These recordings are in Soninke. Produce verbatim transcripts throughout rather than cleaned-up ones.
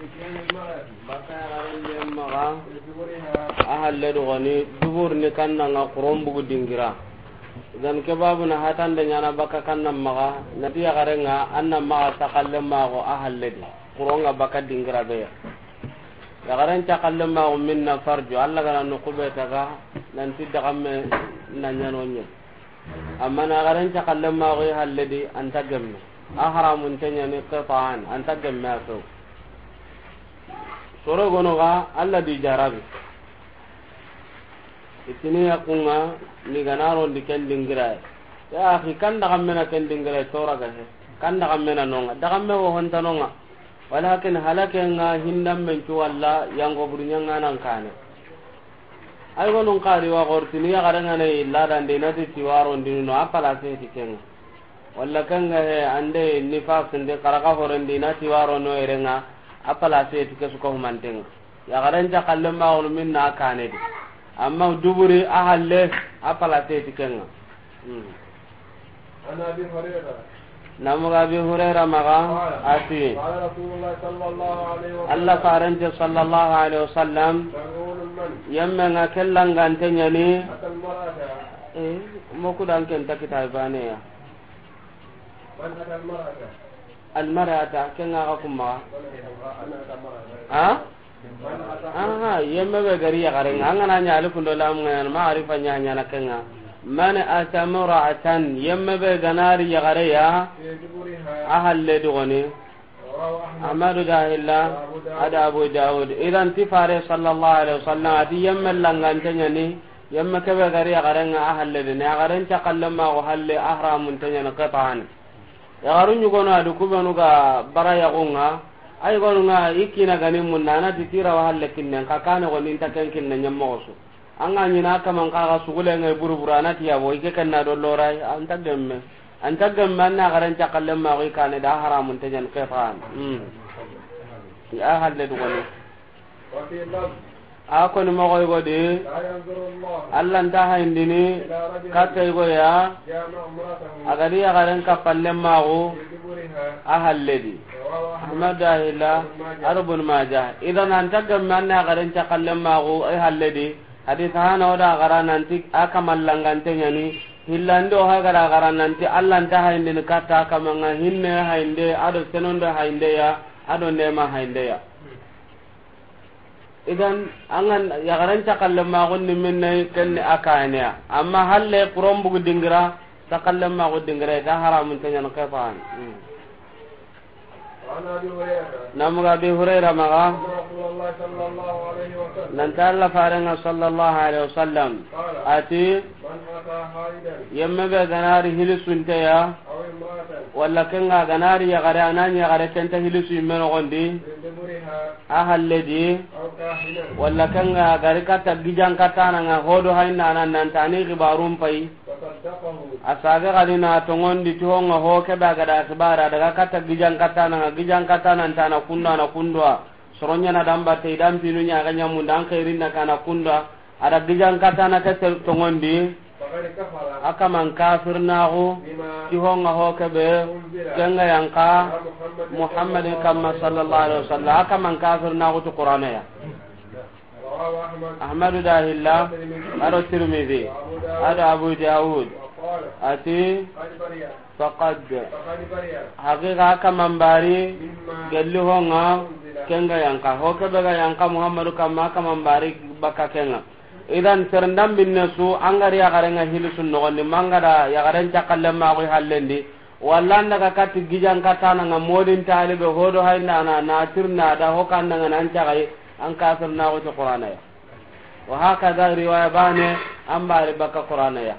Baka yaxaren di maxa, a halle do goni, dubur ni kanna nga xuron bugu dingira. Idan ke babu na hatande ɲana baka kanna maxa, na ti yaxaren nga, an na maxa saxalle maxo a halle di. Xuron nga baka dingira be ya. Yaxaren saxalle maxo minna farju, Alla gana no kube taga, nan ti dagamme na ɲano ɲe. Amma na yaxaren saxalle maxo i halle di, an ta gemme. A haramun te ɲani qita'an, an ta gemme a so. Soro gono ga, Alla di jarabi. Itini ya kunga, ni gana ro ndi ken dingira. Ya akhi, kan dagamme na ken dingira, tora ga he. Kan dagamme na nonga. Dagamme wo honta nonga. Walakin halake nga hindan men cu walla yango buru ɲanga nan kane. Ay gonun kari wa gortini yaxaren nga ne illa dan de na ti tiwaro ndinu no a place ti kenga. Walla kenga he ande nifas ndi karaka hore ndi na tiwaro no erenga a place ti kesu ko mantenga. Yaxaren saxalle maxo minna kane di. Amma duburi a halle a place ti kenga. Hmm. عن أبي هريرة. Namuga Abi Hurayra maxa, قال، a ti, قال رسول الله صلى الله عليه وسلم، Alla farante sallallahu alaihi wasallam, ملعون من yemme nga kellangante ɲani. أتى المرأة. Eh, moku dan ken ta kitabe bane ya. من أتى المرأة. Almarata, ken nga ga kuma. من أتى المرأة. Ha? Aha, yemme be gari yaxaren nga, an gana ɲa alifu ndo lam nga ɲana, ma'arifa ɲa ɲana kenga. Man ata mar'atan, yemme be ganari yaxare ya, a halle di goni. Ahmadu dahilla, ada Abu Dawud. Idan ti fare sallallahu alaihi wasallam, ati yemme langante ɲani, yemme kebe gari yaxaren nga a halle di, ne yaxaren saxalle maxo halle a haramun te ɲani qita'an. Yaxaru ɲugono adi kubenu ga bara yaxunga, ay gonu nga i kina gani munna, a na ti tira wa halle kinnen, ka kane goni nta ken kinne ɲammoxo su. An ga ɲina kaman kaga sugule nga i buruburu, a na ti yabo, i ke kenna do lorai, an ta gemme. An ta gemme, an na yaxaren saxalle maxo i kane da haramun te ɲan qita'an. Hmm. Ya halle du goni. وفي لفظ، a koni moxoy godi, لا ينظر الله Alla nta hayindini إلى رجل katta yigo ya, جامع امرأته a gadi yaxaren kappalle maxu في دبرها. A halle di. رواه أحمد. Ahmad dahila, وابن ماجه. Ado Ibn Majah. Idan an ta gemme an na yaxaren saxalle maxu a halle di. Hadis hana o da gara nanti a kamallangante ɲani. Hillandi o ha gara gara nanti Alla nta hayindini katta kamanga hinne hayinde, ado senondo hayinde ya, ado nema hayinde ya. Idan, an ga yaxaren saxalle maxun ni minne ken ni a kaneya. Amma halle xuron bugu dingira, saxalle maxu dingira, i ta haramun te ɲan qita'an. Hmm. وعن أبي هريرة. Namuga Abi Hurayra maxa. أن رسول الله صلى الله عليه وسلم. Nanta Alla farenga sallallahu alaihi wasallam. قال. Ati. من أتى حائضا. Yemme be ganari hilisunte ya. أو امرأة. Walla kenga ganari yaxare, a na ɲi yaxare kenta hilisu yimme noxondi. من دبرها. A halle di. أو كاهنا. Walla kenga gari katta gijan kattana nga hodo hayna nan nantani xibarun pay. فصدقه. A sage gani na tongondi ti honga ho kebe a gada xibara daga katta gijan kattana nga, gijan kattana ntana kundwa na kundwa. Soronya na damba te idan pinu ɲa ga ɲamunda an xairin na kana kundwa. A da gijan katana ke tongondi. فقد كفر. A kaman kafirnaxu. بما. Ti honga ho kebe. أنزل. Kenga yanka. على محمد. Muhammadin kamma صلى الله عليه وسلم. A kaman kafirnaxu ti Qur'ana ya. رواه أحمد. Ahmadu dahilla. والترمذي. Ado Tirmidhi. وأبو داود. Ado Abu Dawud. وقال. Ati. قد برئ. Faqad. Faqad bari'a. Haqiqa a kaman bari. Mimma. Gelli honga. Unzila. Kenga yanka. Ho kebe ga yanka Muhammadu kamma a kaman bari baka kenga. Idan serendam binne su, an gari yaxaren nga hilisun noxondi, mangada yaxaren cakalle maxu hallendi. Walla an daga katti gijan kattana nga modin talibe hodo hayndana na tirna da ho kandanga nan caxay, an kafirnaxu ti Qur'ana ya. Wa hakaza riwaya bane, an bari baka Qur'ana ya.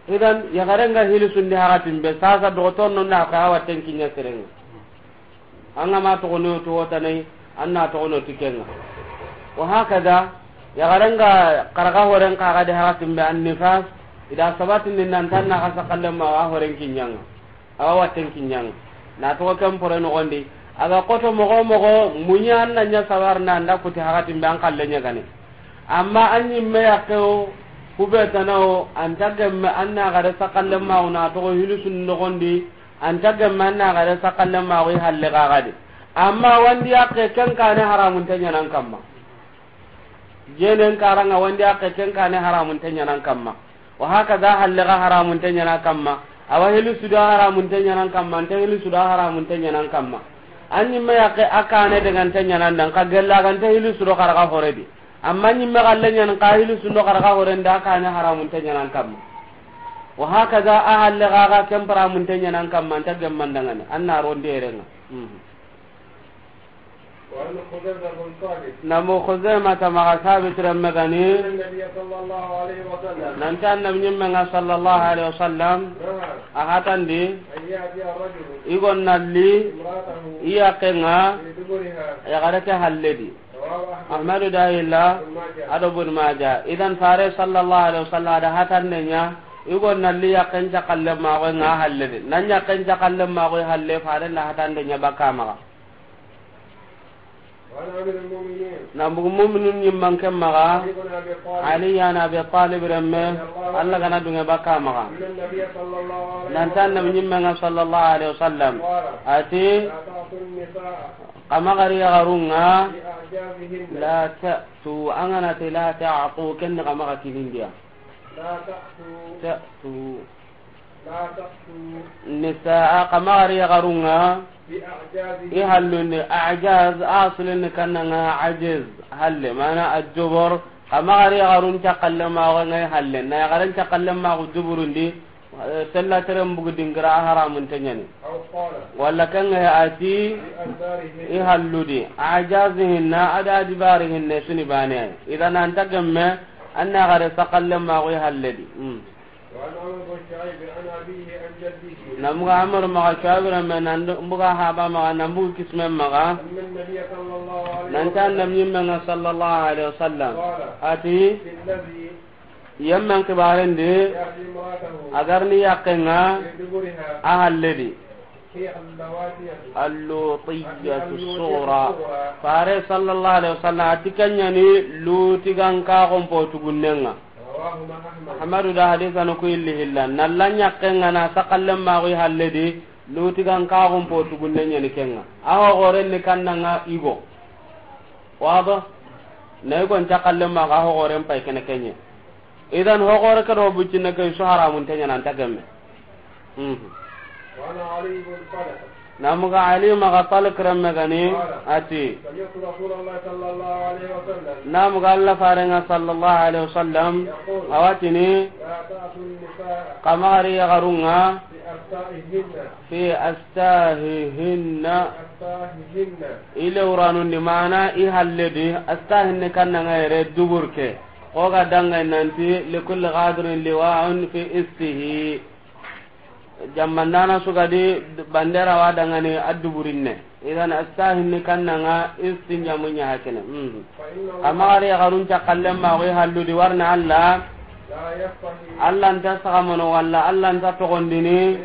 Idan, yaxaren nga hili sundi haratin be, sasa dogotor no na ka watten kinya serenga. An ga ma toxo no to wotanai, an na toxo no tikenga. Wa hakaza, yaxaren nga karaga horen kaga de haratin be an nifas, ida sabatin din nan tan na kasa kallen ma wa horen kinyanga. Awa watten kinyanga. Na toxo ken pore noxondi. Aga koto moxo moxo, munya an na nya sabar na anda kuti hakatin be an kallen ɲa gane. Amma an ɲimme yakke o, kube tana o, an ta gemme an na gare sakallen maxu na toxo hilisun noxondi, an ta gemme an na gare sakallen maxu i halle gagadi. Amma wandi yaqqe ken kaane haramunte ɲaana an kamma. Jeenen karaŋa wandi yaqqe ken kaane haramunte ɲaana an kamma. Wa hakaza halle ga haramunte ɲaana an kamma. Awa hili su do haramunte ɲaana an kamma, nta hili su do haramunte ɲaana an kamma. An ɲimme yaqqe a kaane dagante ɲaana an da, nxa gella ganta hili su do xaraga hore di. Amma ɲimme xalle ɲaana nxa hili su do xaraga hore nda kaane haramunte ɲaana an kamma. Wa hakaza a halle ga ga ken paramunte ɲaana an kamma, nta gemma n daŋani, an na rondi erenŋa. Mhm. وعن خزيمة بن ثابت. Namu Khuzaymata maxa Sabit remme ga ni. أن النبي صلى الله عليه وسلم. Nanti Annabi ɲimme ŋa sallallahu alaihi wasallam. نهى. A hatandi. أن يأتي الرجل. I go na li. امرأته. I yaqqe ŋa. في دبرها. Yaxare ke halle di. رواه أحمد. Ahmadu da hilla. وابن ماجه. A do Ibn Maja. Idan Fare sallallahu alaihi wasallam a da hatande ɲa. I go na li yaqqen cakalle maxa ŋa halle di. Nan yaqqen cakalle maxa halle, Fare na hatande ɲa baka maxa. وعن أمير المؤمنين. Na bugu mu'minun ɲimman ken maxa. علي بن أبي طالب. Ali yan Abi Talib remme. رضي الله عنه. Alla ga na duŋe baka maxa. أن النبي صلى الله عليه وسلم. Nanti Annabi ɲimme ŋa sallallahu alaihi wasallam. قال. A ti. لا تأتوا النساء. Xa maxa ri yaxarun ŋa. في أعجازهن. La ta'tu, an ga na ti la ta'tu, ken ni xa maxa kinindiya. لا تأتوا. Ta'tu. لا تأتوا. Nisaa, xa maxa ri yaxarun ŋa. بأعجازهن. I hallun di, a'jaz, aslun ni kanna ŋa ajiz, halle, mana ajubur. Xa maxa ri yaxarun cakalle maxa ŋa i halle. Na yaxaren cakalle maxa duburun di, eh, sella teren bugu dingira a haramunte ɲaani. أو قال. Walla ken ŋa a ti, بأدبارهن. I hallu di, a'jazihinna, a da adibarihinne su ni baane. Idan an ta gemme, an na yaxare sakalle maxa i halle di. Hmm. وعن عمرو بن شعيب عن أبيه عن جده. Na bugu Amr maxa Shu'aib remme, nan bugu haba maxa, nan bugu kisme maxa. أن النبي صلى الله عليه وسلم. Nanti Annabi ɲimme ŋa sallallahu alaihi wasallam. قال. A ti. في الذي. Yemmen xibaren di. يأتي امرأته. A ga ri yaqqen ŋa. في دبرها. A halle di. هي اللوطية. اللوطية الصغرى. Fare sallallahu alaihi wasallam a ti ken ɲa ni Luti ganka xonpo tugunnen ŋa. رواه أحمد. Ahmadu da hadisanu ku illi hilla. Na la yaqqen ŋa na sakalle maxa i halle di, Luti ganka xonpo tugunne ɲa ni ken ŋa. A hoxoren ni kanna ŋa i go. Wado? Na i go n cakalle maxa, a hoxoren pay kene ken ɲa. Idan hoxore ke do buccinne ke su haramunte ɲaana an ta gemme. Mhm. وعن علي بن طلق. Na bugu Ali maxa Talq remme ga ni, قال. A ti. سمعت رسول الله صلى الله عليه وسلم. Na bugu Alla Fare ŋa sallallahu alaihi wasallam. يقول. A wa tini. لا تأتوا النساء. Xa maxa ri yaxarun ŋa. في أستاههن. Fi astahihinna. أستاههن. I lewranun di, mana i halle di, astahinni kanna ŋa yere dubur ke. Xo ga danŋa nanti, لكل غادر لواء في أسته. Jammandana su ga di bandera wa danŋani a duburinne. Idan astahinni kanna ŋa istinjamu ɲa hakene. Mhm. Xa maxa ri yaxarun cakalle maxa i hallu di, wa ri na Alla. Alla nta saxamono walla Alla nta toxondini.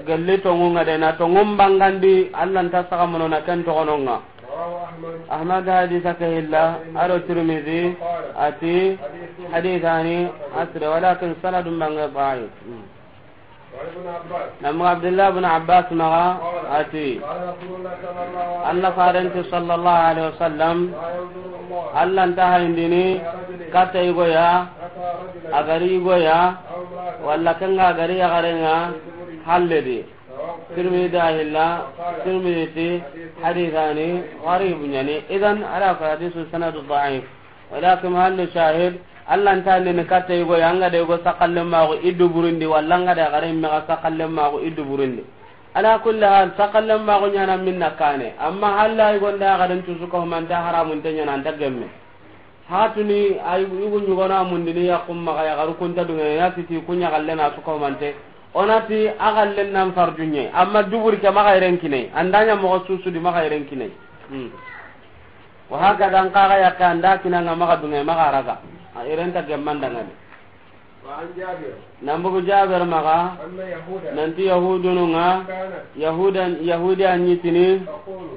Gelli tonŋun ŋa de, na tonŋun bangandi, Alla nta saxamono na ken toxonon ŋa. Ahmad hadisa ke hilla, a do Tirmidhi, a ti, hadisani, asre, walakin sanadun bange daif. Mhm. Na bugu Abdullah bin Abbas maxa, a ti, Alla Faren ti sallallahu alaihi wasallam, Alla nta hayindini katta yigo ya, a ga ri yigo ya, walla ken ŋa a ga ri yaxaren ŋa halle di. Tirmidhi da hilla, Tirmidhi ti, hadisani gharib ɲa ni. Idan, ala fa hadisu sanadu daif. Walakin mahallu shahid, Alla nta ni katta yigo ya, an ga da yigo sakalle maxa i duburindi, walla an ga da yaxare me ga sakalle maxa i duburindi. Ala kulli hal, sakalle maxa ɲaana minna kaane. Amma halla yigo nda yaxaren tu su ko manta haramunte ɲaana an ta gemme. Hatuni ay yugu ɲugona mundini yaqqun maxa yaxaru kun ta duŋe, na ti ti ku ɲa galle na su ko mante. O na ti a galle nan farju ɲa. Amma dubur ke maxa yeren kine. An da ɲa moxo susu di maxa yeren kine. Hmm. Wa hakaza an xa ga yaqqe an da kina ŋa maxa duŋe maxa raga. A yeren ta gemma n daŋani. وعن جابر. Na bugu Jabir maxa, أن يهودا. Nanti Yahudunu ŋa, كانت. Yahuda, Yahudiya ɲi tini, تقول.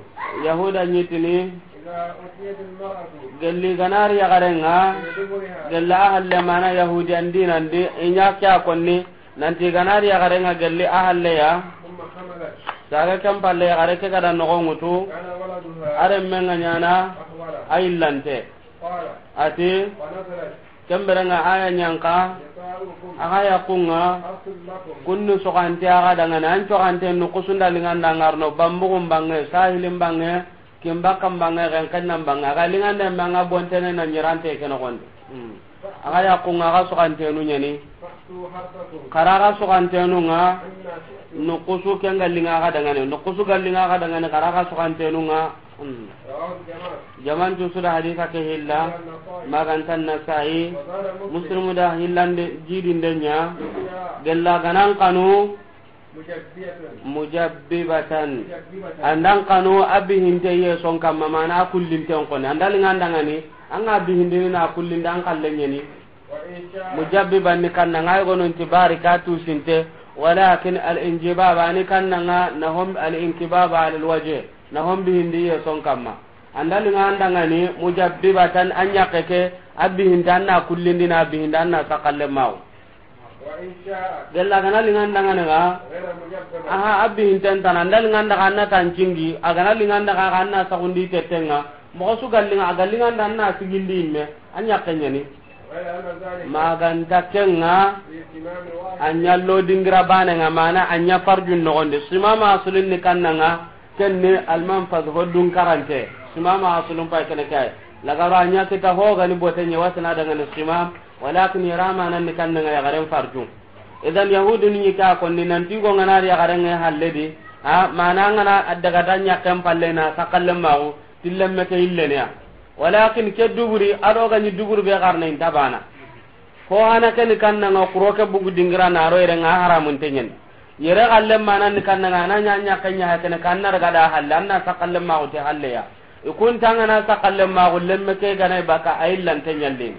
Yahuda ɲi tini, إذا أتيت المرأة. Gelli ga na ri yaxaren ŋa, في دبرها. Gelli a halle mana Yahudiyan dinan di, i ɲa ke a konni, nanti ga na ri yaxaren ŋa gelli a halle ya. ثم حملت. Saga ken palle, yaxare ke ga da noxo ŋutu, a renme ŋa ɲaana a yillante. A ti, ken bire ŋa a ya ɲa n xa, a ga yaxun ŋa, kun ni soxante a ga danŋa ni, an coxante nuxusu nda liŋa nda ŋa ri no, banbugun banŋe, sahilin banŋe, kin bakkan banŋe, xenxennan banŋe, a ga liŋa nda me a ŋa bontene na ɲirante ke noxon di. Hmm. A ga yaxun ŋa, a ga soxantenu ɲa ni. Xa ra ga soxantenu ŋa, nuxusu ken ga liŋa a ga danŋa ni, nuxusu ga liŋa a ga danŋa ni, xa ra ga soxantenu ŋa. Hmm. Jaman tu su da hadisa ke hilla, ma ga nta Nasa'i, Muslimu da hillande, jidinde ɲa, gella ga na n xanu, mujabbibatan. An da n xanu a bihinte ye son kamma, mana a kullinten xoni. An da liŋa nda ŋa ni, a ŋa bihindini na kullinde, an xalle ɲa ni. Mujabbiban ni kanna ŋa, i go no nti bari ka tusinte, walakin al injibaba ni kanna ŋa na hom, al inkibaba ala al wajh, na hom bihindi ye son kamma. An da liŋa nda ŋa ni, mujabbibatan, an yaxe ke, a bihinte an na kullindi na bihinde an na saqalle maxu. Gella a ga na liŋa nda ŋa ni ga, aha, a bihinten tana, an da liŋa nda xa an na tancingi, a ga na liŋa nda xa an na saxundi tetten ŋa, moxo su ga liŋa, a ga liŋa nda an na sigindi yimme, an yaxe ɲa ni. Ma ga nta ken ŋa, a ɲa lo dingira bane ŋa, mana a ɲa farjun noxon di. Simama asulun ni kanna ŋa, ken ni alman fas ho dun karante. Simama asulun pay kene kay. Lagaro a ɲa kita ho ga ni bote ɲa wasana danŋa ni simam, walakin yara manan ni kanna ŋa yaxaren farjun. Idan yahudi ni ka konni nanti go ŋa na ri yaxaren ŋa halle di, ha, mana ŋa na a daga da ɲaxen palle na saqalle maxu, ti lemme ke yillene ya. Walakin ke duburi, a do ga ɲi duburi be xarne inta bana. Ko hana ke ni kanna ŋa, kuro ke bugu dingira na ro yere ŋa, haramun te ɲa ni. Yere xalle manan ni kanna ŋa, a na ɲa ɲaxe ɲa ha kene kanna daga da halle, an na saqalle maxu te halle ya. I kun ta ŋa na saqalle maxu, lemme ke ga na i baka, a yillante ɲallini.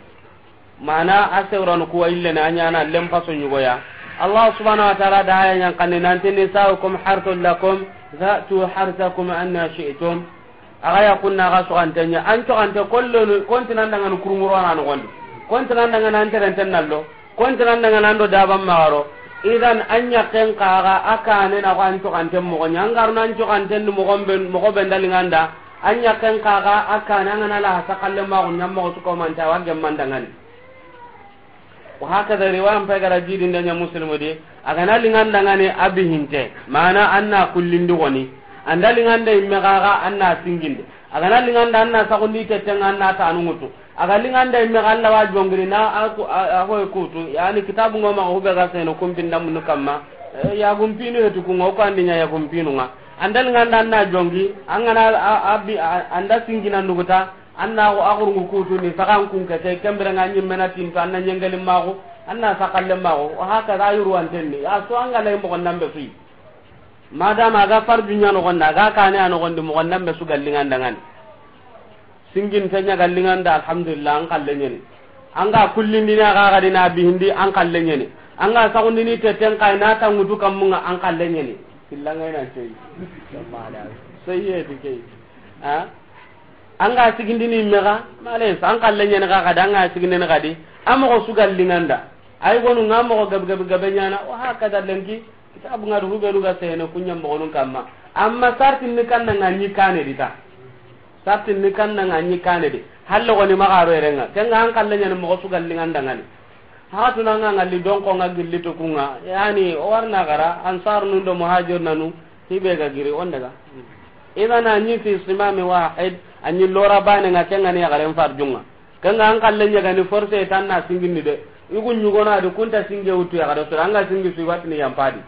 Mana a sewranu kuwa yillene, a ɲaana lem paso ɲugoya. Allah subhanahu wa ta'ala da aya ɲa n xanne nanti, nisaukum harthun lakum, fa'tu harthakum anna shi'tum. A ga yaxun na a ga soxante ɲa, an coxante kollonu, konti nan danŋa ni kurumuro na noxon di, konti nan danŋa ni an terenten na lo, konti nan danŋa ni an do daban maxa ro. Idan an yaxe n xa ga a kane na ko an coxante moxo ɲa, an ga ro na an coxante ni moxo be, moxo be nda liŋa nda, an yaxe n xa ga a kane, an ga na la saqalle maxu ɲa moxo su ko manta wa gemman danŋa ni. Wa hakaza riwaya n pay ga ra jidinde ɲa Muslimu di, a ga na liŋa nda ŋa ni a bihinte, mana an na kullindi xoni, an da liŋa nda yimme xa ga an na singindi, a ga na liŋa nda an na saxundi tetten ŋa an na tanu ŋutu, a ga liŋa nda yimme xa Alla wa jongini na a ku-, a, a hoy kutu, yani kitabu ŋo ma hube ga seno kumpinda munu kamma, eh, yaxun pinu hetu ku ŋa, o ko an di ɲa yaxun pinu ŋa, an da liŋa nda an na jongi, an ga na a, a bi-, a, an da singina nuguta, an na a xurungu kutu ni saxan kun ke, ke ken bire ŋa ɲimme na tinto, an na ɲengeli maxu, an na saqalle maxu, wa hakaza yurwanten ni. A so an ga lay moxon nan be su yi. Madama a ga farju ɲa noxon di, a ga kane a noxon di, moxon nan be su ga liŋa nda ŋa ni. Singinte ɲa ga liŋa nda, alhamdulillah, an xalle ɲa ni. An ga kullindini a ga ga di na bihindi, an xalle ɲa ni. An ga saxundini tetten xa yi na tanŋutu kammun ŋa, an xalle ɲa ni. Filla ŋa yi na coyi. Soyiyeti ke yi. Ha? An ga sigindini yimme xa, male, an xalle ɲa ni xa, xa da an ga sigindini xa di, a moxo su ga liŋa nda. Ay gonu ŋa moxo gabe, gabe, gabe ɲaana, wa hakaza lenki, kitabu ŋa du hubenu ga sene ku ɲa moxonun kamma. Amma sartin ni kanna ŋa ɲi kane di ta. Sartin ni kanna ŋa ɲi kane di. Halle xoni maxa ro yere ŋa. Ken ŋa an xalle ɲa ni moxo su ga liŋa nda ŋa ni. Hatu na ŋa ŋalli donko ŋa gilli to ku ŋa. Yani, o wa ri na xara, ansar nun do muhajir nanu, hibe ga giri, on daga. Idan a ɲi fi simami wahid, a ɲi lora bane ŋa, ken ŋa ni yaxaren farjun ŋa. Ken ŋa an xalle ɲa ga ni force ta an na singindi de. I gu ɲugono a di kun ta singe wutu yaxare sura, an ga singi su i wa ti ni yanpa di.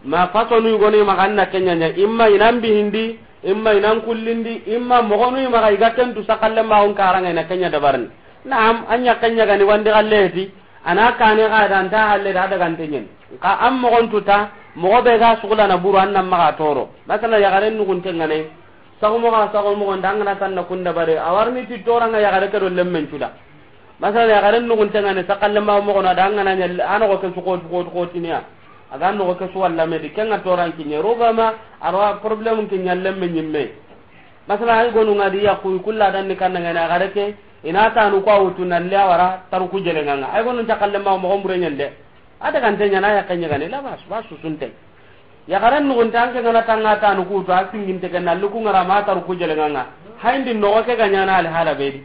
Ma fasonu yogonu i maxa an na ken ɲa ɲa, imma i nan bihindi, imma i nan kullindi, imma moxonu i maxa i ga ken tu saqalle maxun kara ŋa i na ken ɲa dabarini. Naam, an ɲa ken ɲa ga ni wandi xalle heti, a na kane xa da an ta halle da daga nte ɲen. Xa an moxon tu ta, moxo be ga sugula na buru an nan maxa toro. Masala yaxaren nugunte ŋa ne, saxu moxo, saxu moxo nda an ga na tan na kun dabari, a wa ri ni ti tora ŋa yaxare ke do lemmen cu da. Masala yaxaren nugunte ŋa ne, saqalle maxu moxo na da an ga na ɲa, a noxo ke su xoti, xoti, xotiniya. A ga noxo ke su walla me di, ken ŋa toran kiɲe. Rubama, a ro problème kiɲa lemme ɲimme. Masala ay gonu ŋa di yaxu, kulla dan ni kanna ŋa ne, yaxare ke, i na tanu ko a wutu nan le a wara, taru ku jele ŋa ŋa. Ay gonu saqalle maxu moxo mbure ɲen de. A daga nte ɲa na yaxe ɲa ga ni, la bas, bas susunte. Yaxaren nuxunte an ke ga na tanga tanu kutu, a singinte ke na luku ŋara ma taru ku jeleŋa ŋa. Hayindi noxo ke ga ɲaana alhala be di.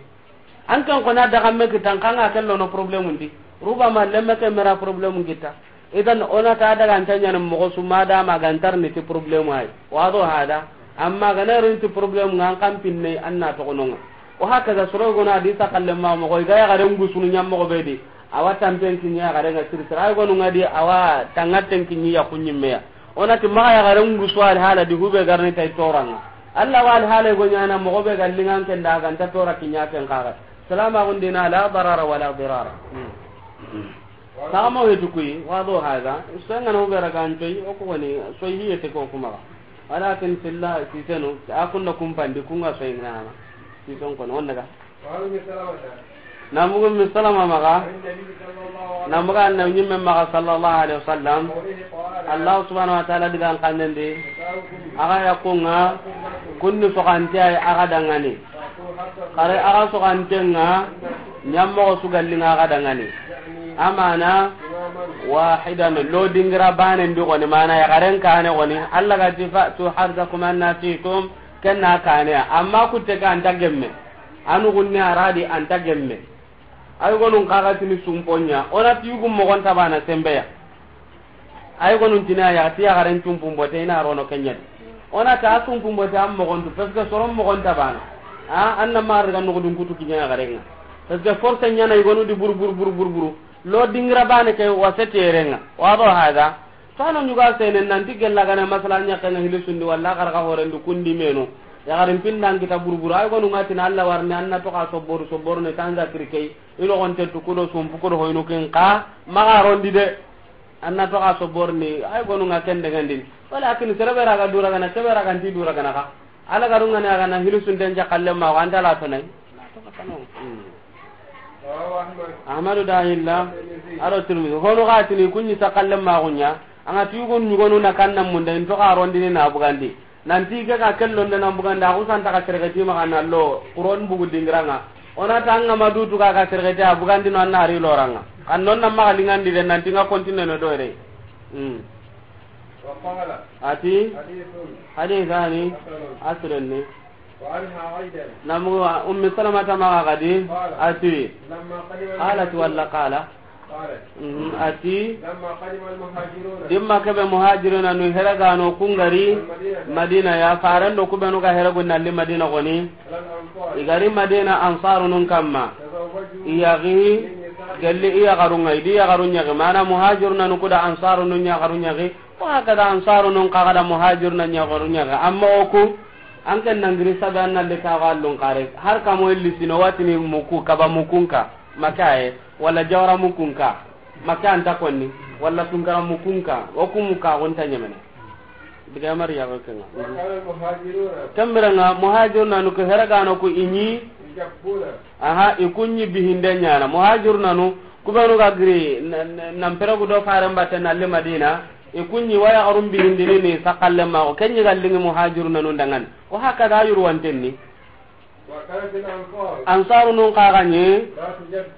An ken xo na daga me kitan kanga kello no problème ndi. Ruba ma lemme ke mera problème kita. Idan o na ta daga anta ɲaana moxo su ma da ma ga ntar ni ti problème ay. Wado hada. Amma ga na rin ti problème ŋa an kan pinne an na toxo no ŋa. O hakaza soro go na di saqalle ma moxo ga yaxaren gusunu ɲa moxo be di. Awa tanpen kiɲi yaxaren ŋa siri siri. Ay gonu ŋa di awa tangaten kiɲi ya kuɲimme ya. O na ti maxa yaxaren gusu alhala di hube garni tay toraŋa. Allah wa alhala go ɲaana moxo be ga liŋan ken da ga nta tora kiɲa ken kaga. Salama gundina la darara wala dirara. Saga mo hetu kuyi, wado haga. Soyŋa no be raga ntoy, o ko woni soy hiye te ko kuma. Walakin silla sisenu, a kunna kumpandi, kunga soy ŋana. Sison kono, on daga. Namugu mi salama maga. Namuga annabi ɲimme maga sallallahu alaihi wasallam. Allah subhanahu wa ta'ala digan kanendi. Aga ya kunga, kunni sogante ay aga dangani. Kare aga sogantenga, ɲammogo su gallinga aga dangani. Amana wahidan, lo dingira banen di goni, mana yaxaren kane goni. Allah ga ti fa'tu harsakum anna shi'tum, kenna kane. Amma kutte ka anta gemme. Anu gunne aradi anta gemme. Ay gonun kaga tini sumponya. Ona ti yugu mogon tabana sembeya. Ay gonun tina ya ti yaxaren cumpun bote ina rono kenyadi. Ona ta cumpun bote am mogon tu, parce que soron mogon tabana. A anna mar ga no dun kutu kinya yaxarenga. Parce que force nyana i gonu di buru buru buru buru buru. Lo dingira bane ke wase terenga. Wado hada. Tano ɲuga sene nanti gella gana masala ɲakkenga hili sundi walla xarxa horendi kundi meno. Yaxarin pindan kita buru buru. Ay gonu ŋa tina Allah warni anna to ka sobboru sobboru ne tanza kirkei. Ilo gonte tu kudo sumpu kudo hoynu ken ka maga rondi de. Anna to ka sobboru ni ay gonu ŋa ken dangandin. Walakin sere be raga dura gana, sere be raga nti dura gana ka. Ala garunga ne aga na hilu sunten ja kalle ma wanda la to nay. Ahmadu da illa aro Tirmidhi. Hono ga tini kunni sakalle ma gunya. Anga ti yugon nyugonu na kanna munda in to ka rondini na bugandi. Nanti ke ka kello nda na bugandi, a kusanta ka sergeti ma kana lo kuron bugu dingiranga. Ona tanga ma dutu ka ka sergeti a bugandi no anna hari loranga. Kan non na ma lingandi de nanti nga continue no dore. Mm. Ati. Hadithani. Asrani. Namu Ummi Salamata maga kadi. Ati. Qalat walla qala. Mhm, ati. Dimma kebe muhajiruna nu heragano kungari Madina ya, farando kubenu ga heragu nalli Madina goni. Igari Madina ansaru nun kamma. Iyagi gelli iyagarunga, idi yagarun yagi. Mana muhajiruna nu kuda ansaru nun yagarun yagi. Wa hakada ansaru nun kagada muhajiruna yagarun yagi. Amma oku, an ken nangiri sabe an nalli kaga allun kare. Har kamo illi sino watini muku, kaba mukunka. Makaye, wala jawara mukunka. Maka anta konni, wala tunkara mukunka. Oku muka gonta nyemene. Diga mari ya kenga. Kambiranga muhajiruna nu ke heragano ku inyi. Aha, ikunyi bihinde nyana. Muhajiruna nu, kubenu ga giri, na, na, nan peregu do faren batte nalli Madina. Ikunyi waya garum bihindini ni sakalle ma ko. Kenyi gallingi muhajiruna nu dangan. Wa hakada yuru wantenni. Ansaru nun kaga ni.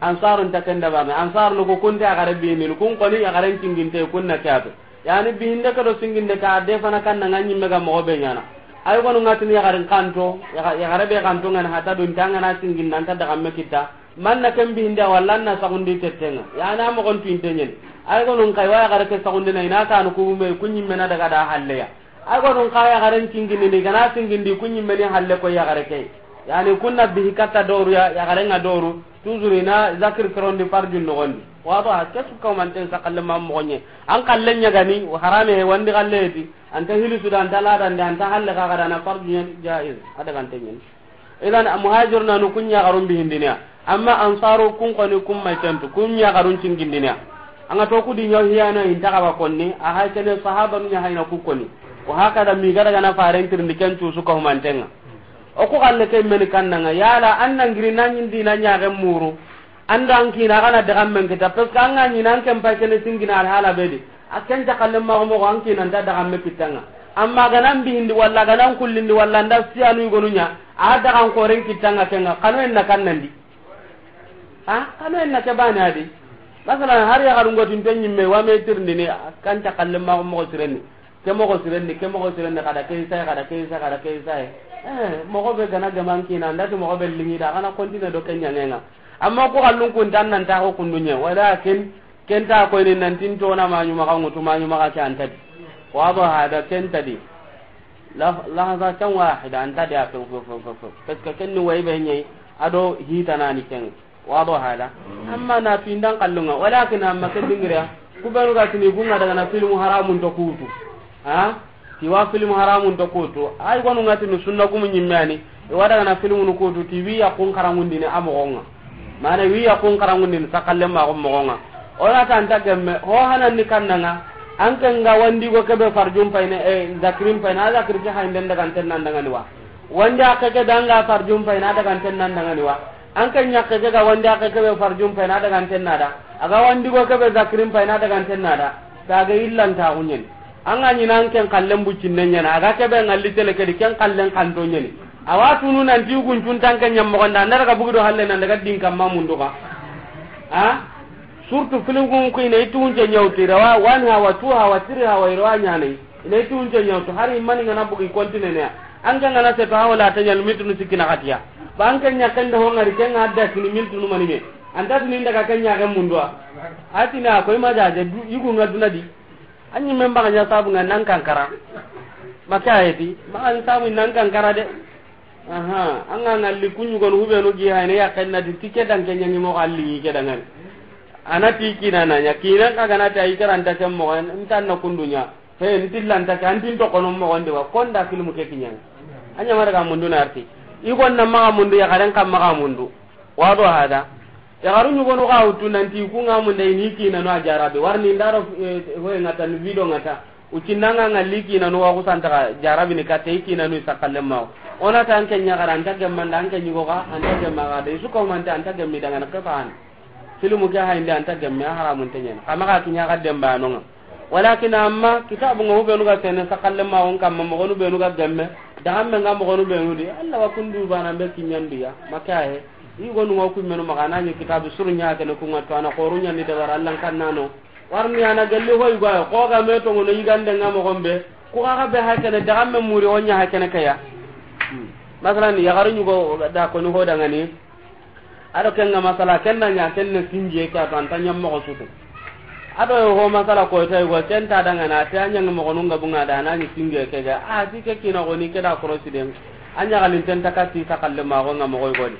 Ansaru nta kenda bame. Ansaru nu ko kunte a gare bini. Kun koni a garen cinginte kunna kyato. Yani bihinde ka do singinde ka de fana kan na nganyi mega mo be nyana. Ay gonu ngatini ya garen kanto, ya gare be kanto ngana hata dun tanga na singin nan ta daga me kita. Man na ken bihinde walla na sagundi tettenga. Yani amo gon tuinte nyen. Ay gonu kai wa ya gare ke sagundi na ina kanu ku me kunyi mena daga da halleya. Ay gonu ka ya garen cingini ni gana singindi kunyi meni halle ko ya gare ke. Yani kunna bihi katta doru ya, ya garen nga doru. Toujours ina zakir kerondi farjun nogondi. Wado ha kesu ka manten sakalle ma mogonye. An kallen ɲagani, harame he wandi kalleti. Anta hili suda, anta ladande, anta halle kagada na fardu ɲa jaiz. Ada gantenyen. Idan muhajiruna nu kunya garun bihindiniya. Amma ansaru kun koni kun mai tentu. Kunya garun cingindiniya. Anga to kudi ɲaw hiyana inta kaba konni. A hay kene sahaba nu ɲa hayna ku koni. Wa hakada mi gada gana faren tirindi ken tu suka humantenga. O ku galle ke meni kannanga. Yala an nangiri nanyin dina ɲagen muru. Anda an kina gana daga men kita, parce que an ga ɲina an ken pay kene singina alhala be di. A ken ta kalle ma mo an kina nda daga me kitanga. Amma gana mbihindi walla gana kullindi walla nda siyanu gonunya. A daga koren kitanga kenga. Kanu en na kannandi. Ha? Kanu en na ke bani adi. Masalan, har ya garungo tin to nyimme wa me tirndini, a kan ta kalle ma mo tireni. Ke moxo siren di, ke moxo siren di, xada ke isa yi, xada ke isa yi, xada ke isa yi. Eh, moxo be ga na gemu an kiina, an da ti moxo be liŋi da, a ga na continue do ke ɲaŋen ŋa. Amma ku xallun kun ta an nan ta xo kundu ɲa, walakin ken ta koyini nanti n tona maɲumaxa ŋutu, maɲumaxa ke an ta di. Wado hada, ken ta di. La-, lahaza kan wahida an ta di a few, few, few, few, few. Parce que ken ni wayi be ɲa yi, a do hitanani ken. Wado hada. Amma na fi ndan xallun ŋa, walakin amma ke dingira, ku benu ga tini ku ŋa daga na filmu haramun to kutu. Ha? Ti wa filmu haramun to kutu. Ay, gonu ŋa tini sunna gumu ɲimme ya ni, i wa daga na filmu nu kutu, ti wi ya kun xarangundini a moxo ŋa. Mana wi ya kun xarangundini sakalle ma ko moxo ŋa. O na ta an ta gemme, ho hanan ni kanna ŋa, an ke ŋa wandi go ke be farjun payini, eh, zakirin payini, a zakiri ke haynden daga anten nan daga ni wa. Wandi a ke ke be an ga farjun payini, a daga anten nan daga ni wa. An ke ɲakke ke ga wandi a ke ke be farjun payini, a daga anten na da. A ga wandi go ke be zakirin payini, a daga anten na da. Ta ga illan ta gunyeni. An ga ɲi nan ken xallen buccinne ɲa na, a ga ke be ŋalli tele ke di, ken xallen xanto ɲa ni. A wa tunu nanti yugun cun ta an ke ɲa moxo nda, an da daga bugi do halle nan daga din kamma mundu ga. Ha? Surtout filin kun ku i na i tunce ɲawti, rawa one hawa, two hawa, three hawa, i rawa ɲa na i. I na i tunce ɲawti, hari mani ŋa na bugi continue ne ya. An ke ŋa na seto hawa la ta ɲa miltunu sikki na xatiya. Ba an ke ɲa ken da ho ŋari ken ŋa da sini miltunu mani me. An ta sini daga ken ɲa ken mundu wa. A ti na ko i ma jaje du, yugun ŋa duna di. An ɲi men baga ɲa sabu ŋa nan kankara. Maka heti, ma an sabu nan kankara de. Aha, an ga ŋalli ku ɲugonu hubenu gi hayne ya ken na di tike dan ke ɲa ni moxo alli ke dangani. A na ti kiina na ɲa, kiina ka ga na ta i karanta ken moxo, n ta na kundu ɲa. He, n ti lanta ke, an tin to kono moxo ndi wa, konda filmu ke kiɲa. A ɲa ma daga mundu na arti. I gon na maxa mundu, yaxaren kam maxa mundu. Wado hada. Yaxaru ɲugonu xa wutu nanti ku ŋa munde i ni kiinanu a jarabi. Warni ndaro, eh, hoye ŋa ta, ni video ŋa ta. U cinna ŋa ŋalli kiinanu wa ku santa xa jarabi ni katte i kiinanu i sakalle ma. O na ta an ke ɲaxara, an ta gemmanda, an ke ɲugo xa, an ta gemma xa de. I su ko mante an ta gemmi daga na ke faan. Filmu ke hayndi an ta gemme, a haramun te ɲa ni. Xa maxa kiɲa xa demba no ŋa. Walakin amma kitabu ŋa hubenu ga sene sakalle ma on kamma moxonu benu ga gemme. Daga me ŋa moxonu benu di. Allah wa kundu bana be kiɲandiya. Maka he. I gonu ŋa ku menu maxa na ɲi kitabu suru ɲa ke ne ku ŋa to a na xoru ɲa ni dabara Allah kan nano. Warni a na galli hoy goy ko ga me to ŋono yigande ŋa moxon be. Ku ga ga be ha ke ne daga me muri o ɲa ha ke ne ke ya. Hmm. Masalan yaxaru ɲugo da ko ni ho daga ni. A do ken ŋa masala, ken na ɲa, ken na sinjiye ke a to, an ta ɲa moxo sutu. A do ho masala ko tay go, ken ta daga na, te a ɲa moxonu ŋa bu ŋa da, na ɲi sinjiye ke ga, a ti ke kiina go ni ke da korosi den. A ɲa galin ten ta kati sakalle ma go ŋa moxo go di.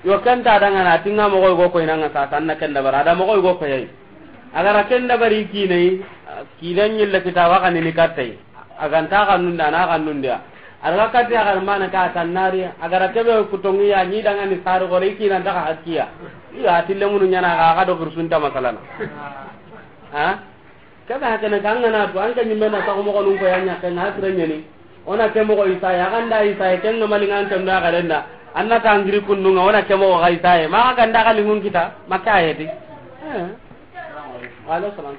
Yo ken ta daga na, ti ŋa moxo go ko ina ŋa sa, tan na ken dabara, da moxo go ko yayi. A ga ra ken dabari kiina yi, kiina ɲille kita wa kanini katte yi. A ga nta xannundi, a na xannundi ya. A daga kati a ga mana ka tannari, a ga ra kebe kutongi ya, ni daga ni sari gore, i kiina daga hakkiya. Iya, a ti lemunu ɲa na ga, ga do kursunta masalana. Ha? Kebe hakene ka an ga na tu, an ke ɲimme na sago moxonun ko ya ɲa ke ŋa sire ɲa ni. O na ke moxo isa ya, a ga nda isa ya, ken ŋa mali ŋa an ke ndo a ga renda. An na tangiri kundu ŋa, o na ke moxo ga isa ya. Ma ga nda ga lingun kita, ma ka ya di. Eh. Wa alaikum salam.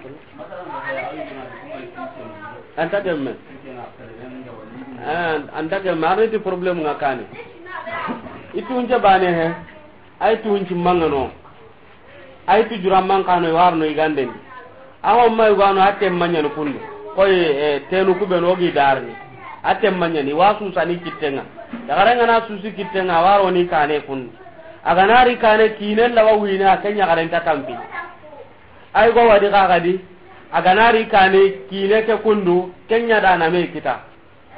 An ta gemme. Ah, an ta gemme. Arni ti problème ŋa kani. I tunce bane he. Ay tunci mangano. Ay tu jura man kano warno i ganden di. Awa ma i gano a temma ɲa ni kundu. Koy, eh, tenu ku be no gi darni. A temma ɲa ni wa susani kittenŋa. Yaxare ŋa na susi kittenŋa, waro ni kane kundu. A ga na ri kane kinen lawa wina, ken yaxaren ta tampi. Ay go wadi xa ga di, a ga na ri kane kiine ke kundu, ken ɲa da na me kita.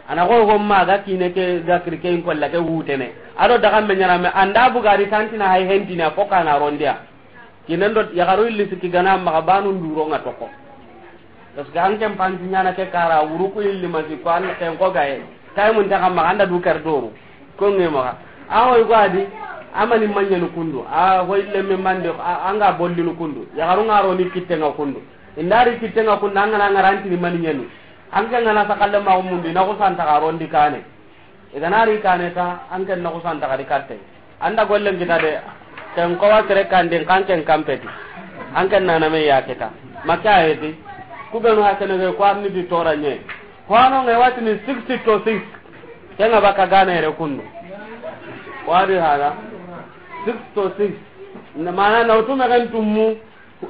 A na go go ma ga kiine ke ga kiri ke in kolla ke wutene. A do daga me ɲa na me, an da bu ga ri tantina hay hentina fo ka na rondiya. Kiinen do yaxaru illi sikki ga na maxa banu nduro ŋa toko. Parce que an ken panti ɲa na ke kara wuru ku illi masi ko an ken ko gaye. Tay mun ta xa maxa an da du kar doru. Ko ŋe maxa. A hoy go a di, a mani ma ɲa ni kundu. A hoy lemme mande, a, an ga bollinu kundu. Yaxaru ŋa ro ni kittenŋa kundu. I nda ri kittenŋa kundu, an ga na ŋa ra an ti ni mani ɲa ni. An ke ŋa na sakalle ma mundu, i na ku santa ga rondi kane. I ga na ri kane ta, an ken na ku santa ga ri katte. An da gollen kita de, ken ko wa sere kandin kan ken kampeti. An ken na na me ya kita. Maka heti. Ku be no hakene ko arni di tora ɲe. Ko ano ŋe watini sixty to six. Ken ŋa baka gane re kundu. Wadi hala. Six to six. Na mana na utu me kan tummu.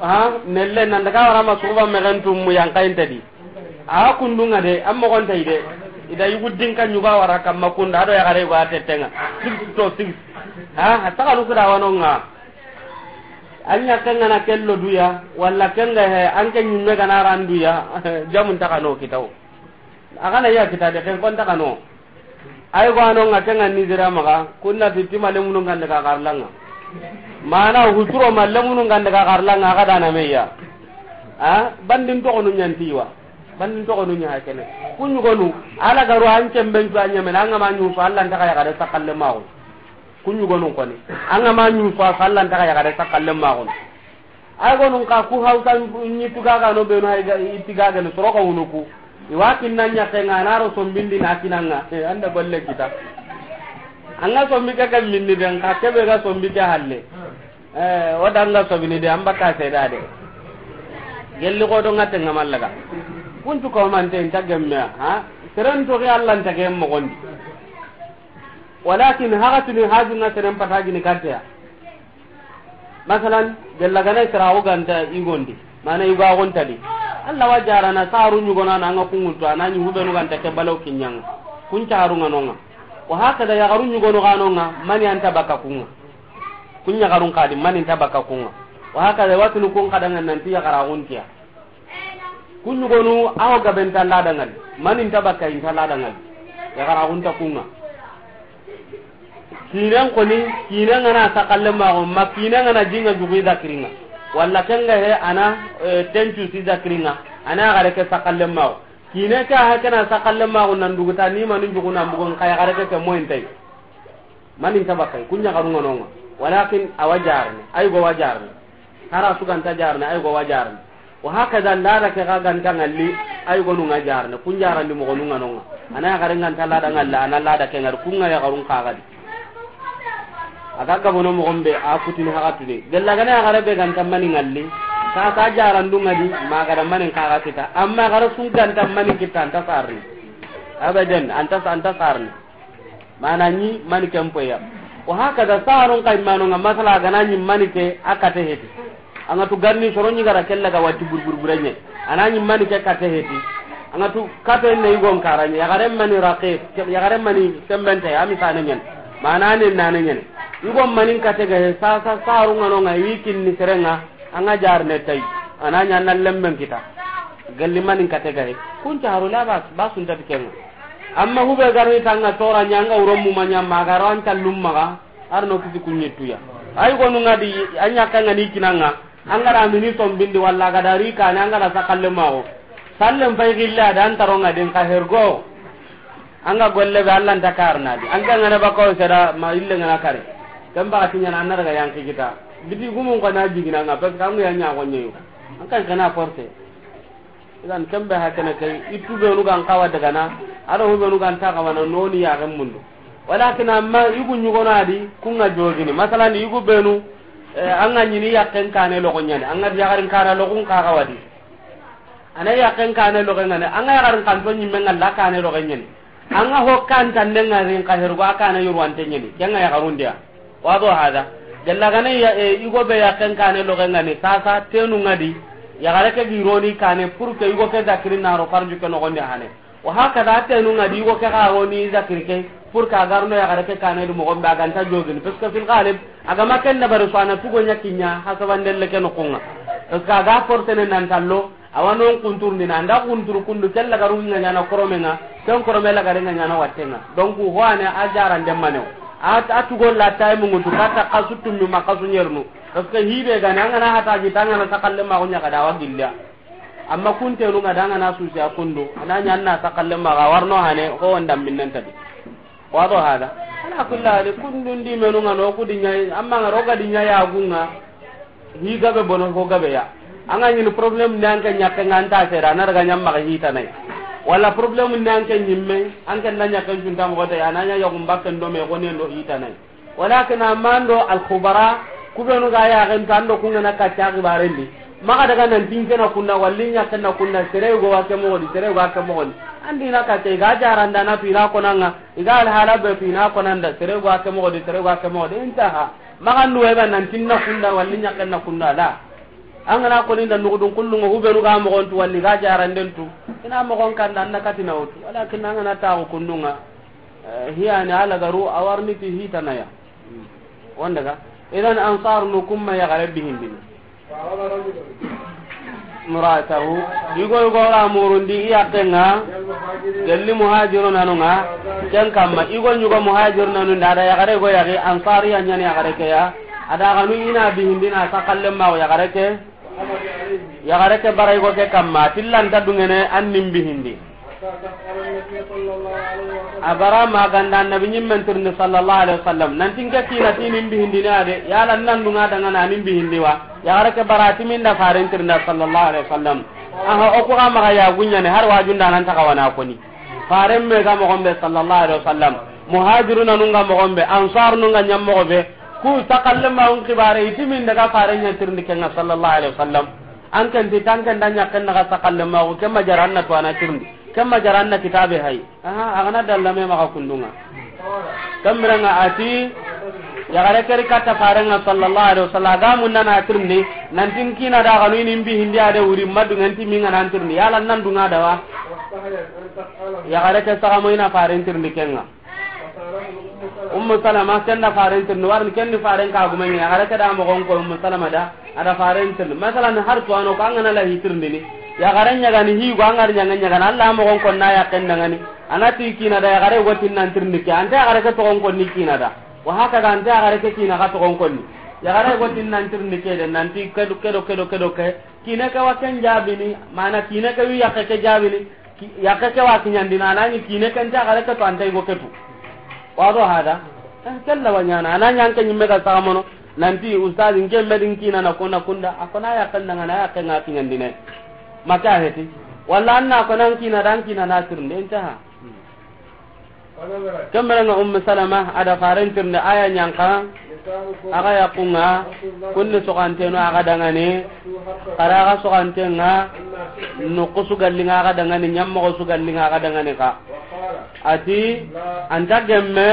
Ha, nelle nan daga wara ma suba me kan tummu yan kayin tadi. A kundunga de, an mogon tay de. I da yugu dinka ɲuga wara kamma kunda, a do yaxare yugo a tettenga. Six to six. Ha, a taxanu kuda wanonga. An ɲakke ngana kello duya, walla kenga he, an ke ɲimme gana ran duya, jamun taxano kitawo. A gana ya kita de, ken kon taxano. Ay go anonga kenga ni dira maga, kunna ti tima lemunu ngande ka garlanga. Mana huturo ma lemunu ngande ka garlanga, a ga dana meya. A, bandin toxonu ɲantiwa. Bandin toxonu ɲa hakene. Kuɲugonu, ala garu an cemben cu a ɲamena, an ga ma ɲusu, Allah ntaxa yaxare sakalle maxu. Kuɲugonu koni. An ga ma ɲusu, Allah ntaxa yaxare sakalle maxu. Ay gonun ka ku hausa ɲi tugaga no benu hay ga, i tigaga no soroka wunuku. I wa kinna ɲaxe nga na ro sombindi na kinanga. Eh, anda golle kita. An ga sombi ke ke minni den ka kebe ga sombi ke halle. Eh, o danga sobini de, an baka seda de. Gelli ko do ngate ngamallaga. Kuntu ko man te nta gemme, ha? Seren to ke Allah nta gemme gondi. Walakin hagatuni hajunga seren patagini kateya. Masalan, gella gana sira o ganta igondi, mana igo a gontadi. Allah wa jarana saru ɲugona na nga kunguntu, anani hubenu ganta ke balaw kinyanga. Kun caru nga nonga. Wa hakada yaxaru ɲugono ga nonga, mani anta baka kunga. Kun yaxarun kadi, mani nta baka kunga. Wa hakada watunu kun kadanga nanti yaxara guntiya. Kuɲugonu, awo gaben ta ladangal. Mani nta baka inta ladangal. Yaxara gunta kunga. Kinen koni, kinen ngana sakalle maxo, ma kinen ngana jinga jugi zakiringa. Walla kenga he ana, eh, tencu si zakiringa. Ana yaxare ke sakalle maxo. Kine ke a hakena sakalle maxo nan duguta ni manu juguna mbugon ka yaxare ke ke moyintay. Mani nta bakay, kun yaxarunga nonga. Walakin a wa jarne, ay go wa jarne. Hara su ganta jarne, ay go wa jarne. Wa hakada lada ke ga ganta ngalli, ay gonu nga jarne, kun jarandi mogonunga nonga. Ana yaxare nganta lada ngalla, ana lada ke ngar, kunga yaxarun kagadi. A ga gabono mogon be, a kutini hagatuni. Gella gana yaxare be ganta mani ngalli, ka ka jarandunga di, magada mani kaga kita. Amma yaxare su ganta mani kita, anta sarni. Abadan, anta, anta sarni. Mana ɲi mani ke mpoya. Wa hakada saron kay mano nga masala gana ɲi mani ke a kate heti. Anga tu ganni soro ɲi gara kella ga wati burburburenye. Ana ɲi mani ke kate heti. Anga tu kate ne igon karanye. Yaxare mani raqib, yaxare mani sembente, ami sane nyen. Mana ne nane nyen. Igon mani kate ga he, sa, sa, saru ngano nga ikin ni serenga. Anga jarne tay. Ana ɲa na lemmen kita. Galli mani kate ga he. Kun caru la bas, basun tatikenga. Amma hube garni tanga tora ɲanga uron mu manya magaro an tallum maga, arno kisi kunyituya. Ay gonu ngadi, anya kanga ni kinanga, angara mini sombindi walla gadari kane angara sakalle mago. Sallen fay gilla dan taronga den ka hergo. Anga golle be Allah nta karna di. Anga ngana bako sera ma ille ngana kare. Kamba atinya na anara ga yanki kita. Biti gumun ko na jigina nga pes kangu ya nya gonye yo. An kan kana force. Idan kembe hakana kai, itu be nu gan kawa daga na, ado be nu gan ta kawa na noni ya gan mundu. Walakin amma igu nyugo na di, kunga jogini. Masalan, igu be nu, eh, anga nyini yakken kane logo nyani, anga di yakarin kana logun ka kawa di. Ana yakken kane logo ngane, anga yakarin kanto nyimme ngalla kane logo nyani. Anga ho kan tande ngarin ka hergo akana yurwante nyani. Kenga yakarundia. Wado hada. Gella gane ya, e, igo be yakken kane logo ngani. Sasa tenu ngadi. Yagare ke gironi kane pour que igo ke zakiri naro farju ke nogonde hane. Wa hakada tenu ngadi igo ke garoni zakiri ke pour que agarno yagare ke kane du mogombe aganta jogini. Parce que fil ghalib, agama ken na bari so ana tugo nyakinya hasabandelle ke nokunga. Parce que aga forcene nan tallo, Awa non kunturndi na, anda kunturu kundu, ken lagaru nga ɲana koromenga, ken korome lagare nga ɲana wattenga. Donc, ho ane a jarande manewo. A, a tugo la tay mungutu, kata kasu tummi ma kasu nyernu. Parce que hibe gane, angana hata gita, angana sakalle ma ko ɲaga da wa gilla. Amma kuntenu nga da angana susi a kundu, ana ɲanna sakalle ma ga warno hane, ko wanda minnen tabi. Wado hada. Ala kulli hali, kundun di menu nga no kudi ɲa, amma nga roga di ɲa ya gunga. Hi gabe bono ho gabe ya. Anga ɲini problème ni anke ɲakke nga anta sera, na daga ɲamma ga hita nay. Wala problème ni anke ɲimme, anke na ɲakke junta mo gote, ana ɲa ya gumba ken do me gone ndo hita nay. Walakin amando al khubara, kubenu ga ya gen tando kunga na ka ta gibarendi. Maga daga nan tinke na kunna, walli ɲakke na kunna, sere go wa ke mo di, sere go wa ke mo di. Andi na ka te ga jaranda na pina konanga. Iga alhala be tu ina konanda, sere go ake mogo di, sere go ake mogo di, intaha. Magan duwe ga nan tinna kunda, walli ɲakken na kunda, la. An ga na koni nda nugudun kullun ŋa, hubenu ga moxon tu, walli ga jaranden tu, i na moxon kanda, an na katina wutu. Walakin an ga na taxu kundun ŋa, eh, hiyani a lagaru, a wa ri ni ti hitana ya. Wondaga. Idan, Ansarunu ku ma yaxare bihindini. Muratahu. Yugo, yugo ra murundi i yaqqen ŋa. Gelli Muhajirunanu ŋa. Ken kamma, yugo ɲugo Muhajirunanu nda, a da yaxare go yaxi, Ansariya ɲani yaxare ke ya. A da ganu i na bihindini, a saxallen ma yaxare ke. Yaxare ke bara yugo ke kamma, a ti lanta duŋene an ni n bihindi. A bara ma ganda Annabi ɲimmen tirindi sallallahu alaihi wasallam. Nanti n ke kiina ti ni n bihindini a de, yala nan duŋa daŋa na ni n bihindi wa? Yaxare ke bara ti min da Faren tirindi sallallahu alaihi wasallam. Aha, o ku ga maxa ya guɲane, har wajunda nan taxawana koni. Faren me ga moxon be sallallahu alaihi wasallam. Muhajirunanu ga moxon be, Ansarunu ga ɲa moxo be. Ku saxallen ma xibare, i ti min daga Faren ɲa tirindi ken ŋa sallallahu alaihi wasallam. An ken ti tanken da ɲaqqen naxa saxallen ma, ken ma jara an na tuwana tirindi, ken ma jara an na kitabe hay. Aha, a ga na dalla me maxa kundun ŋa. Ken biren ŋa a ti, yaxare ke ri katta Faren ŋa sallallahu alaihi wasallam, a ga munna na tirindi, nanti n kiina da ganu i ni n bihindi a de wuri, ma duŋen ti min ŋa na n tirindi, yala nan duŋa da wa? Yaxare ke saxa mo i na Faren tirindi ken ŋa. Ummu Salama, ken da Faren tirindi, wari ken ni Faren ka gumen ŋa, yaxare ke da moxon ko Ummu Salama da, a da Faren tirindi. Masalan, har tuwano ko an ga na lahi tirindini, yaxare ɲagani hi go an ga ri ɲaŋa ɲagana, Alla moxon ko na yaqqen daŋani, a na ti kiina da yaxare go tin nan tirindi ke, anta yaxare ke toxon ko ni kiina da. Wa haka ga anta yaxare ke kiina ka toxon ko ni. Yaxare go tin nan tirindi ke de, nanti kedo, kedo, kedo, kedo ke. Kiine ke wa ken jaabini, mana kiine ke wi yaqqe ke jaabini, ki-, yaqqe ke wa kiɲandini, a na ɲi kiine ke nta yaxare ke tu, anta yugo ke tu. Wado hada? Eh, kella wa ɲaana, a na ɲa an ke ɲimme ga saxa mono, nanti, ustaz, n ke medin kiina na kona kunda, a kona yaqqen daŋa na yaqqen ŋa kiɲandine. Ma ke a heti. Walla an na kona n kiina da, n kiina na tirinde, nta ha. Ken biren ŋa Ummu Salama, a da Faren tirindi a ya ɲa xa, a ga yaqqun ŋa, kun ni soxantenu a ga daŋani, xara a ga soxanten ŋa, noqu su galli ŋa a ga daŋani, ɲammoxo su galli ŋa a ga daŋani xa. A ti, anta gemme,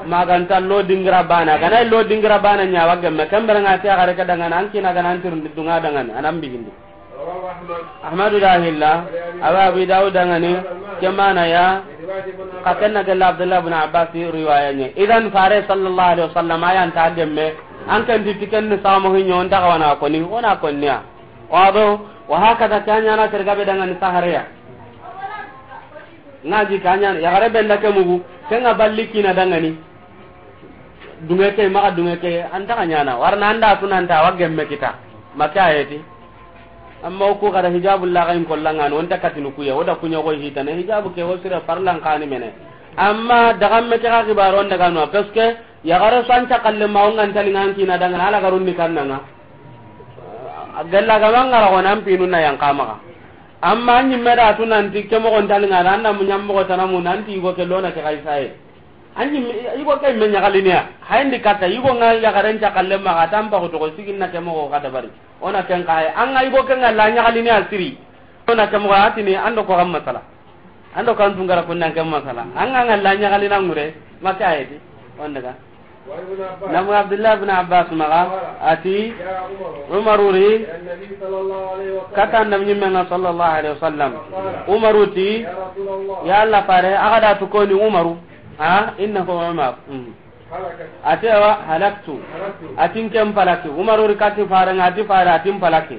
ma ga nta lo dingira bana, ga na lo dingira bana ɲa wa gemme, ken biren ŋa a ti a ga re ke daŋani, an kiina ga na an tirindi duŋa daŋani, a na n bihindi. Ahmadu da hilla, a wa Abi Dawud daŋani, ke mana ya, xa ken na gella Abdullah ibn Abbas riwaya ɲa. Idan Fare sallallahu alaihi wasallam a ya nta gemme, an ken ti ken ni samu hinyo nta xa wa na koni, o na koni ya. Wado, wa hakada ke ɲaana terga be daŋani sahareya. Ŋa ji ke ɲaana, yaxare be nda ke mugu, ken ŋa balli kiina daŋani. Duŋe ke, maxa duŋe ke, anta xa ɲaana. Wari na an da tunanta wa gemme kita. Ma ke a heti. Amma o ku xara hijabu la ga in kolla ŋa no, o nta katini ku ya, o da ku ɲa go hitana. Hijabu ke o sire farlan xa ni mene. Amma daga me ke ga xibaro daga no, parce que yaxare su an saxallen ma o ŋa nta li ŋa an kiina daŋa na, a lagarun ni kanna ŋa. A gella ga ma ŋa ra go na an pinu na yan xa maxa. Amma an ɲimme da tunanti ke moxo nta li ŋa na, an na mu ɲammoxo tana mu nanti yugo ke lo na ke xa i saye. An ɲimme, yugo ke me ɲaxalini ya. Hayndi katta, yugo ŋa yaxaren saxallen ma xa, tan paxu toxo sigin na ke moxo xa dabari. O na ken xa hay. An ŋa yugo ke ŋa la ɲaxalini ya siri. O na ke moxo a tini, an do ko xa masala. An do kan tungara kun nan ke masala. An ŋa ŋa la ɲaxalina ŋure, ma ke a heti. Wondaga. Namu Abdullah ibn Abbas maxa, a ti, Umaru ri, katta Annabi ɲimme ŋa sallallahu alaihi wasallam. Umaru ti, ya Allah Fare, a ga da tu koni Umaru. Ha, innahu Umar. Mm. A ti, awa, halaktu. A ti n ken palaki. Umaru ri kati Fare ŋa, a ti Fare, a ti n palaki.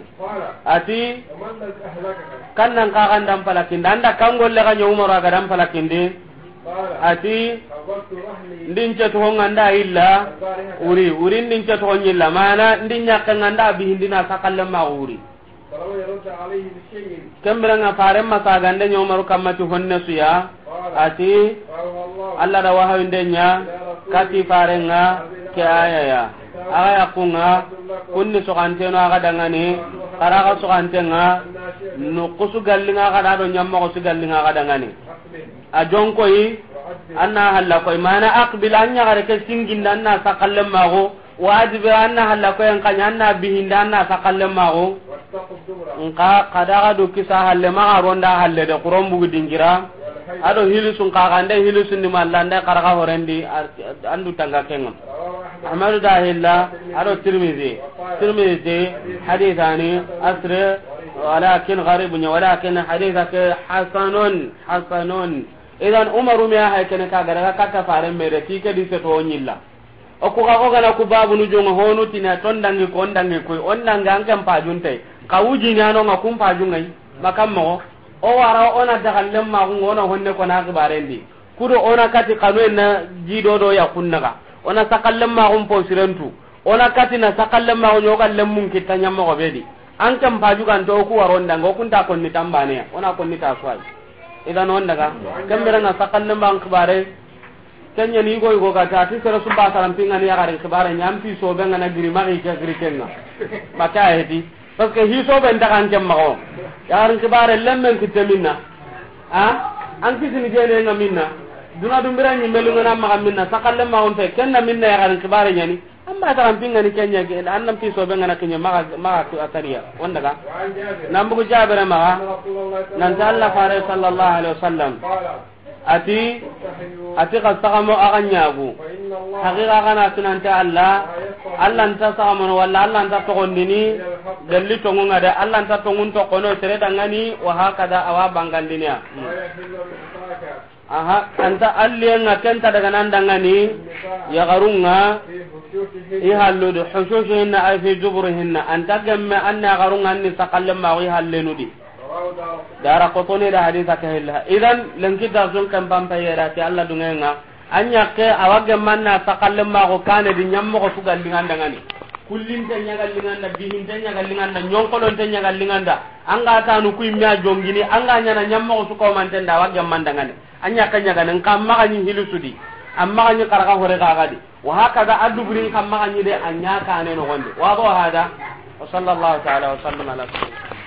A ti, kan nan xa ga nda n palakindi, an da kan golle ga ɲa Umaru a ga da n palakindi. A ti, ndi n ce toxo ŋa nda yilla, wuri, wuri ndi n ce toxo ɲilla, mana ndi ɲaqqe ŋa nda bihindi na saxallen ma wuri. Ken biren ŋa Faren ma sagande ɲa Umaru kamma ti honne su ya. A ti, Allah da wahayinde ɲa kati Faren ŋa ke aya ya. A ga yaqqun ŋa, kun ni soxantenu a ga daŋani, xara a ga soxanten ŋa, noqu su galli ŋa a ga da do ɲammoxo su galli ŋa a ga daŋani. A jonkoyi, an na halla koyi, mana aqbil, an yaxare ke singindi, an na saxallen maxu, wa adbir, an na halla koyi, an xa ɲa, an na bihindi, an na saxallen maxu. Nxa, xa da ga do kisa halle, maxa ronda halle de, xuron bugu dingira. A do hilisun xa, xa nde hilisun di malla, nde xaraxa horendi, a, an du tanga ken ŋa. Ahmadu da hilla, a do Tirmidhi. Tirmidhi, hadithani asre, walakin gharibun, walakin haditha ke hasanun, hasanun. Idan Umaru me ya hay kene ka ga daga katta faren me de, ti ke di se to nyilla. O ku ga o gana ku babunu jonga honu tina ton dangi ko on dangi ko on dangi an kan pajunte. Ka wuji nyano nga kun pajungai. Makam mo. O wara ona daga lemma ku ngona honne ko na xibarendi. Kudo ona kati kanu en na jido do ya kunnaga. Ona sakallen maxun posirentu. Ona kati na sakallen maxu ɲogallen mun kitta ɲammoxo be di. An ken pajuganto o ku waron danga o kunta konni tambaneya. Ona konni ta suwai. Idan on daga. Kembere nga sakallen maxun xibare. Kenya ni go go ga ta ti sere suba saram pingani ya garin xibare ɲam pi so be ngana giri magi ke giri kenga. Maka hedi. Parce que hiso ben daga an ken maxo. Yaxarin xibare lemmen kitte minna. A? An kisini jene nga minna. Duna dumbira ni melu ngana maxa minna. Sakalle ma on fe. Kenna minna yaxarin xibare ɲani. An ba taxan pingani kenya ke. An nan piso be ngana kenya maxa, maxa ku atariya. On daga. Nan bugu Jabira maxa. Nan ta Allah fare sallallahu alaihi wasallam. Ati, ati xa saxamo axa ɲagu. Haqiqa xa na tunante Allah, Allah nta saxamono walla Allah nta toxondini, dalli tongu nga de, Allah nta tongun toxono sere dangani, wa hakada awa bangandiniya. Aha, anta alliye nga kenta daga nan dangani, yaxarunga, i halludu, hushushihinna ay fi juburihinna, anta gemme anne yaxarunga anni sakalle maxu i hallenudi. Dara kotoni da hadisa ke hilla. Idan lenki da sun kan pampa yera ti Allah dungenga. Anya ke awage manna sakalle ma go kane di ɲammo go sugal linganda ngani. Kullin te ɲagal linganda, bihin te ɲagal linganda, ɲonkolon te ɲagal linganda. Anga tanu ku imya jongini, anga ɲana ɲammo go suko mantenda awage manda ngani. Anya ke ɲaga nan kam magani hilusudi. Amma gani karaka hore gagadi. Wa hakada aduburin kam magani de anya kane no gonde. Wa bo hada. Wa sallallahu ta'ala wa sallam ala sayyidina